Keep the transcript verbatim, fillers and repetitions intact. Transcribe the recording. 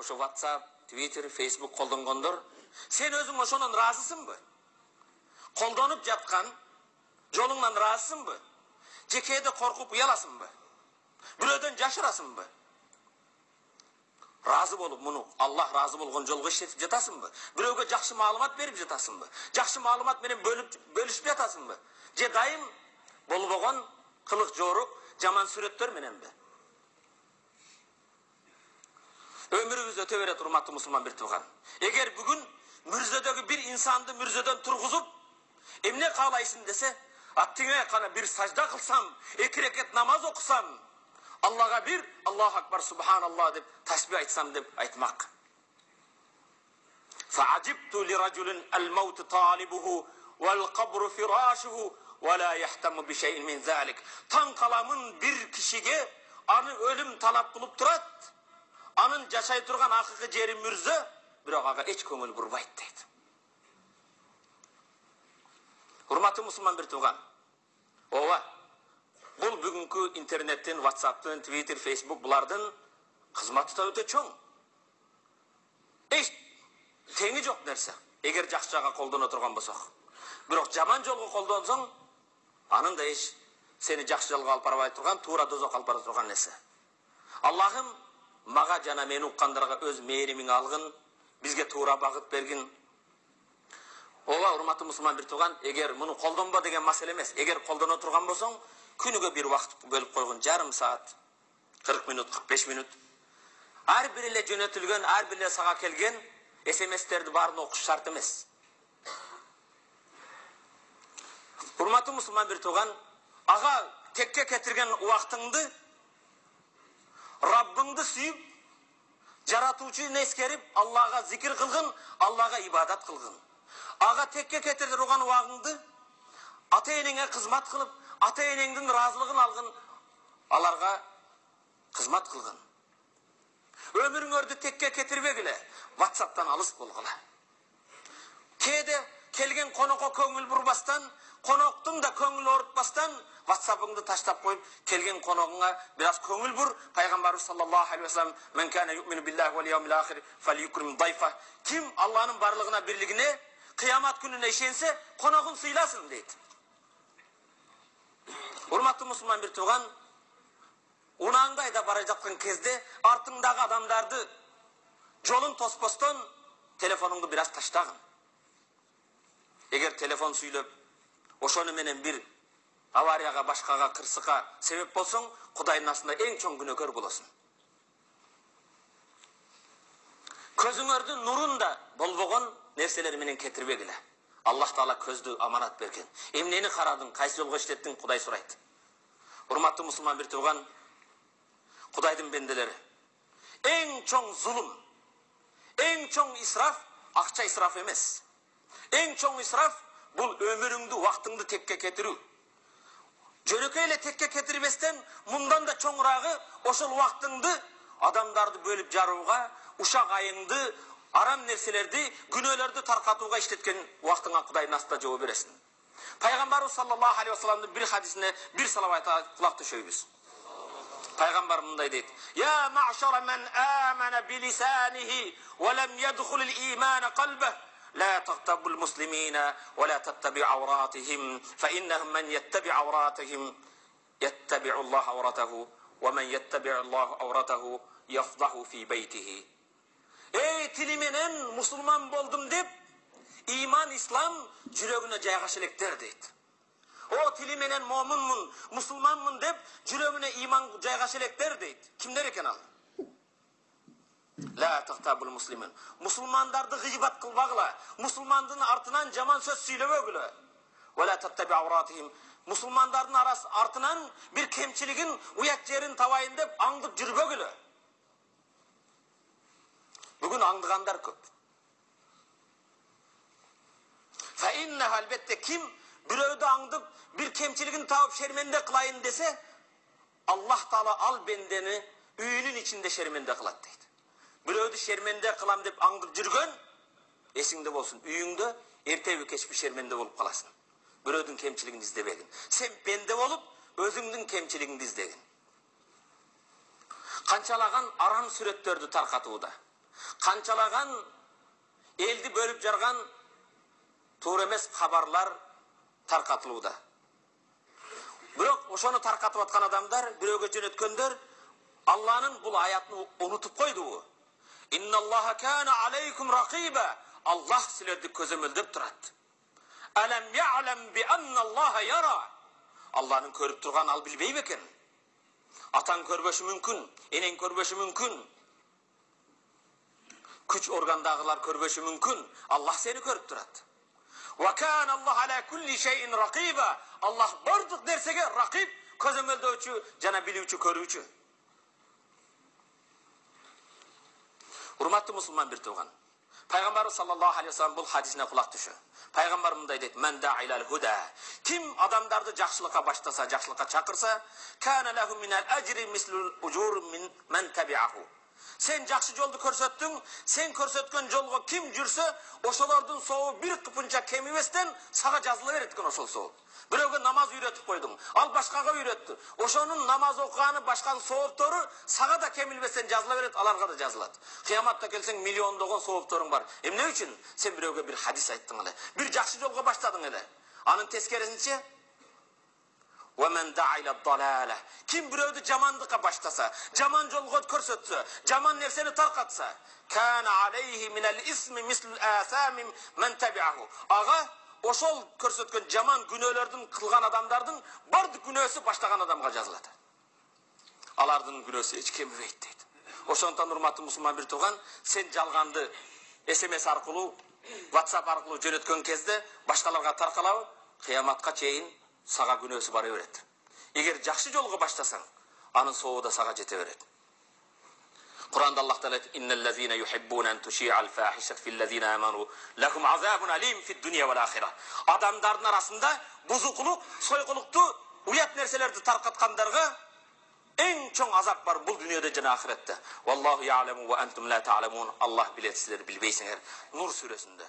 ошо WhatsApp, Twitter, Facebook колдонгондор, сен өзүң ошонун ыраазысыңбы? Колдонуп жаткан жолуңдан ыраазысыңбы? Же кээде коркуп уяласыңбы? Бирөөдөн жашырасыңбы? Разы болуп муну Аллах разы болгон жолго иштетип жатасыңбы? Бирөөгө жакшы маалымат берип жатасыңбы? Жакшы маалымат менен бөлүп бөлүшүп жатасыңбы? Же дайым болбогон кылык жорук, жаман сүрөттөр мененби? Өмүрүбүз өтө берет, урматтуу мусулман бир тууган. Эгер бүгүн мүрзөдөгү бир инсанды мүрзөдөн тургузуп, эмне каалайсың десе, аттиңе кана бир сажда кылсам, эки рекет намаз окусам, Аллага бир Аллаху акбар субханаллах деп тасбih айтсам деп айтмак. Фа'ажибту лиражулин ал-маут талибуху вал-кабру фирашуху ва ла яхтаму би шейин мин залик. Таң каламын бир кишиге аны өлүм талап кылып турат. Анын жашай турган акыркы жери мүрзө, бирок ага эч көңүл бурбайт дейт. Урматтуу мусулман бир тууган. Ооба. Бул бүгүнкү интернеттен, WhatsApp'тын, Twitter, Facebook булардын кызматы да өтө чоң. Эч теңи жок нерсе. Эгер жакшы жакка колдоно турган болсок. Бирок жаман жолго колдонсоң, анын да эч сени жакшы жолго алып барбай турган, туура дозокко алып бара турган нерсе. Аллахым мага жана мени уккандарга өз мээримиң алгын, бизге туура багыт бергин. Ооба, урматтуу мусулман бир тууган, эгер муну колдонбо деген маселе эмес. Эгер колдоно турган болсоң, күнүгө бир убакыт бөлүп койгон, жарым саат, кырк мүнөт, кырк беш мүнөт. Ар бир эле жөнөтүлгөн, ар бир эле сага келген эс эм эстерди баарын окуш шарт эмес. Урматтуу мусулман бир тууган, ага текке кетирген убактыңды Раббыңды сүйүп, жаратуучуну эскерип, Аллага зикир кылгын, Аллага ибадат кылгын. Ага текке кетире турган убагыңды ата-энеңе кызмат кылып, ата-энеңдин ыраазылыгын алгын, аларга кызмат кылгын. Өмүрүңөрдү текке кетирбегиле, WhatsApp'тан алыс болгула. Кээде келген конокко көңүл бурбастан, коноктун да көңүл оорутпастан WhatsApp'ыңды таштап коюп, келген коногуңа бир аз көңүл бур. Пайгамбарыбыз саллаллаху алейхи ва саллям: "Мен кана ю'мину биллахи вал яумил ахир фалюкрим дайфа." Ким Алланын барлыгына, бирлигине, кыямат күнүнө ишенсе, коногун сыйласын дейт. Урматтуу мусулман бир тууган, унааңды айдап бара жаткан кезде артыңдагы адамдарды жолун тоспостон телефонуңду бир аз таштагын. Эгер телефон сүйлөп, ошону менен бир аварияга, башкага, кырсыкка себеп болсоң, Кудайдын астында эң чоң күнөөкөр болосуң. Көзүңөрдүн нурун да болбогон нерселер менен кетирбегиле. Аллах Таала көздү аманат берген. Эмнени карадың, кайсы жолго иштеттиң, Кудай сурайт. Урматтуу мусулман бир тууган, Кудайдын бенделери, эң чоң зулум, эң чоң исраф акча исраф эмес. Эң чоң исраф бул өмүрүңдү, убактыңды текке кетирүү. Жөнөкөй эле текке кетирбестен, мындан да чоңурагы ошол убактыңды адамдарды бөлүп жарууга, ушак айыңды, арам нерселерди, күнөөлөрдү таркатууга иштеткен убактыңа Кудайдын астында жооп бересиң. Пайгамбарыбыз саллаллаху алейхи ва салламдын бир хадисине бир салават айтып кулак түшөйбүз. Пайгамбар мындай дейт: "Я ма'шара man amana bi lisanihi wa lam yadkhul al-iman qalbihi لا تغتابوا المسلمين ولا تتبعوا عوراتهم فإنهم من يتبع عوراتهم يتبع الله عورته ومن يتبع الله عورته يفضح في بيته." Ey tili menen musulman boldum dep, iman, İslam жүрөгүнө жайгаша электер дейт. O tili menen момунмун, мусулманмын деп, жүрөгүнө иман жайгаша электер дейт. Кимдер экен ал? La taqtabul muslimin. Musulmandарды гыйбат кылбагыла. Мусулмандын артынан жаман сөз сүйлөбөгүлө. Wa la tattabi awratihim. Musulmandардын арасы артынан бир кемчилигин, уят жерин табайын деп аңдып жүрбөгүлө. Бүгүн аңдыгандар көп. Fa innaha albatta kim бирөөдү аңдып, бир кемчилигин таап шерменде кылайын десе, Аллах Таала ал бендени үйүнүн ичинде шерменде кылат дейт. Бирөөдү шерменде кылам деп аңдып жүргөн, эсиңде болсун, үйүңдө эртеби кечпи шерменде болуп каласың. Бирөөдүн кемчилигин издебегин. Сен бенде болуп, өзүңдүн кемчилигиңди издегин. Канчалаган арам сүрөттөрдү таркатууда. Канчалаган элди бөлүп жарган туура эмес кабарлар таркатылууда. Бирок ошону таркатып аткан адамдар, бирөөгө жөнөткөндөр Алланын бул аятын унутуп койду. Инналлаха кана алейкум ракиба. Аллах силерди көзөмөлдөп турат. Алам я'лам би анналлаха яра. Алланын көрүп турган ал билбейби экен? Атаң көрбөшү мүмкүн, энең көрбөшү мүмкүн. Күч органдагылар көрбөшү мүмкүн. Аллах сени көрүп турат. Ва кана Аллах ала кулли шейин ракиба. Аллах бардык нерсеге ракиб, көзөмөлдөөчү жана билүүчү, көрүүчү. Урматтуу мусулман бир тууган. Пайгамбар саллаллаху алейхи ва саллям бул хадисине кулак түшү. Пайгамбар мындай дейт: "Мен да'илал худа." Ким адамдарды жакшылыкка баштаса, жакшылыкка чакырса, "Кана лаху минал ажри мислул ужур мин мен таби'аху." Сен жакшы жолду көрсөттүң, сен көрсөткөн жолго ким жүрсө, ошолордун сообу бир кыпынча кемибестен сага жазыла берет экен ошол сооп. Бирөөгө намаз үйрөтүп койдуң, ал башкага үйрөттү. Ошонун намаз окуганы башканын сооптору сага да кемилбестен жазыла берет, аларга да жазылат. Кыяматта келсең миллиондогон соопторуң бар. Эмне үчүн? Сен бирөөгө бир хадис айттың эле, бир жакшы жолго баштадың эле. Анын тескерисинче Wa man da'a ila ad-dalala. Kim bирөөдү жамандыкка баштаса, жаман жолго көрсөтсө, жаман нерсени таркатса, kana alayhi min al-ismi misl al-atham man tabi'ahu. Ага ошол көрсөткөн жаман күнөөлөрдүн кылган адамдардын бардык күнөөсү баштаган адамга жазылат. Алардын күнөөсү эч кемибейт дейт. Ошондон урматтуу мусулман бир тууган, сен жалганды эс эм эс аркылуу, WhatsApp аркылуу жөнөткөн кезде башкаларга таркалабы, кыяматка чейин сага күнөөсү бара берет. Эгер жакшы жолго баштасаң, анын сообу да сага жете берет. Кур'анда Аллах Таала айтат: "Иннал-лазина юхиббуна ан туши'ал фахишат фил-лазина аману лахум азабун алим фид-дунья вал-ахира." Адамдардын арасында бузукулук, сойкулукту, уят нерселерди таркаткандарга эң чоң азап бар бул дүйнөдө жана ахиретте. Валлаху я'ламу ва антум ла та'ламун. Аллах билет, силер билбейсиңер. Нур сүрөсүндө.